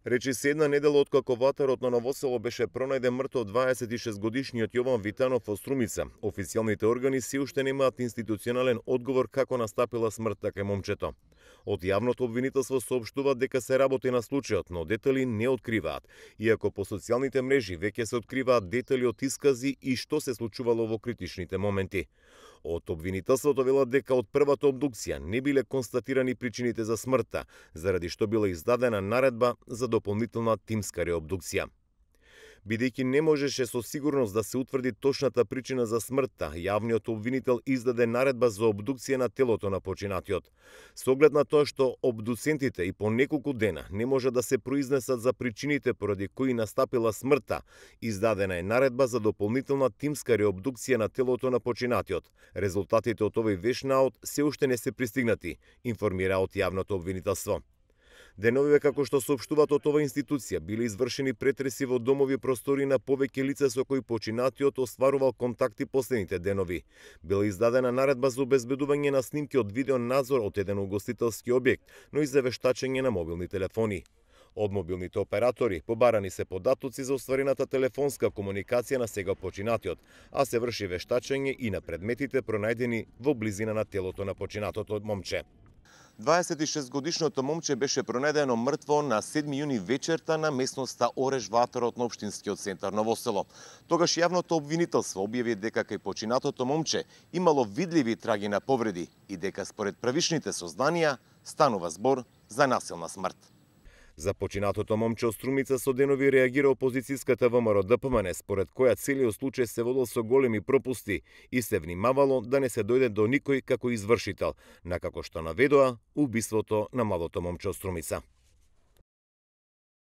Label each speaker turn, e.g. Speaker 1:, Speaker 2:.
Speaker 1: Речи се една недела откако ватарот на Ново Село беше пронајден мртов 26-годишниот Јован Витанов во Струмица. Официјалните органи се уште немаат институционален одговор како настапила смртта кај момчето. Од јавното обвинителство соопштуваат дека се работи на случајот, но детали не откриваат, иако по социјалните мрежи веќе се откриваат детали од искази и што се случувало во критичните моменти. Од обвинителството велат дека од првата обдукција не биле констатирани причините за смртта, заради што била издадена наредба за дополнителна тимска реобдукција. Бидејќи не можеше со сигурност да се утврди точната причина за смртта, јавниот обвинител издаде наредба за обдукција на телото на починатиот. Со оглед на тоа што обдуцентите и по неколку дена не може да се произнесат за причините поради кои настапила смртта, издадена е наредба за дополнителна тимска реобдукција на телото на починатиот. Резултатите од овој веш наод се уште не се пристигнати, информира од јавното обвинителство. Деновиве, како што соопштуваат од оваа институција, биле извршени претреси во домови простори на повеќе лица со кои починатиот остварувал контакти последните денови. Била издадена наредба за обезбедување на снимки од видеонадзор од еден угостителски објект, но и за вештачење на мобилни телефони. Од мобилните оператори побарани се податоци за остварената телефонска комуникација на сега починатиот, а се врши вештачење и на предметите пронајдени во близина на телото на починатото момче. 26-годишното момче беше пронајдено мртво на 7 јуни вечерта на местноста Ореш ватарот на општинскиот центар Ново Село. Тогаш јавното обвинителство објави дека кај починатото момче имало видливи траги на повреди и дека според правишните сознанија станува збор за насилна смрт. За починатото момче од Струмица со денови реагира опозицијската ВМРО-ДПМН, според која целиот случај се водел со големи пропусти и се внимавало да не се дојде до никој како извршител, на како што наведоа убиството на младото момче од Струмица.